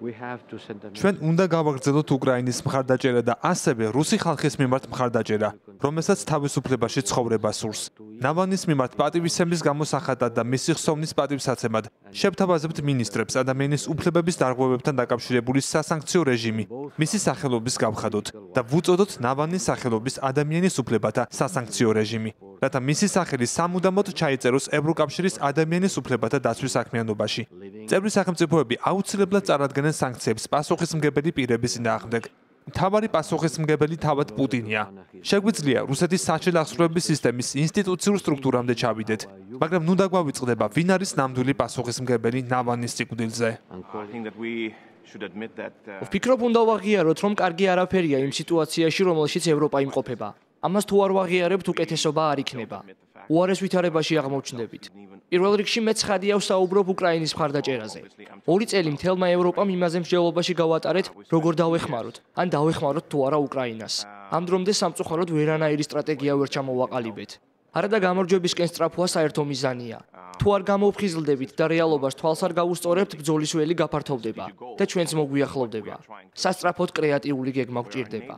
ჩვენ უნდა გავაგრძელოთ უკრაინის მხარდაჭერა და ასევე რუსი ხალხის მიმართ მხარდაჭერა, რომელსაც თავისუფლებაში ცხოვრება სურს. ნავალნის მიმართ პატივისცემის გამო სახადად და მისი ხსოვნის პატივსაცემად შევთავაზებთ მინისტრებს ადამიანის უფლებების დარღვევებთან დაკავშირებული სასანქციო რეჟიმი მისი სახელობის გავხადოთ და ვუწოდოთ ნავალნის სახელობის ადამიანის უფლებათა სასანქციო რეჟიმი, რათა მისი სახელი სამუდამოდ ჩაიწეროს ევროკავშირის ადამიანის უფლებათა დაცვის საქმიანობაში. წევრი სახელმწიფოები აუცილებლად წარადგენენ სანქციებს პასუხისმგებელი პირების წინააღმდეგ. მთავარი პასუხისმგებელი თავად პუტინია. შეგვიძლია რუსეთის საჩელახსრუების სისტემის ინსტიტუციურ სტრუქტურამდე ჩავიდეთ, მაგრამ ნუ დაგვავიწყდება, ვინ არის ნამდვილი პასუხისმგებელი ნავალნის სიკვდილზე. ვფიქრობ, უნდა ვაღიაროთ, რომ კარგი არაფერია იმ სიტუაციაში, რომელშიც ევროპა იმყოფება. ამას თუ არ ვაღიარებთ, უკეთესობა არ იქნება. უარეს ვითარებაში აღმოჩნდებით. პირველ რიგში მე ცხადია ვსაუბრობ უკრაინის მხარდაჭერაზე. 2 წელი მთელმა ევროპამ იმაზე მსჯელობაში გავატარეთ, როგორ დავეხმაროთ, ან დავეხმაროთ თუ არა უკრაინას. ამ დრომდე სამწუხაროდ ვერანაირი სტრატეგია ვერ ჩამოვაყალიბეთ. არადა გამარჯვებისკენ სწრაფვა საერთო მიზანია. თუ არ გამოვხიზლდებით და რეალობას თვალს არ გავუსწორებთ, ბრძოლის ველი გაფართოვდება და ჩვენც მოგვიახლოვდება. სასწრაფოდ კრეატიული გეგმა გვჭირდება.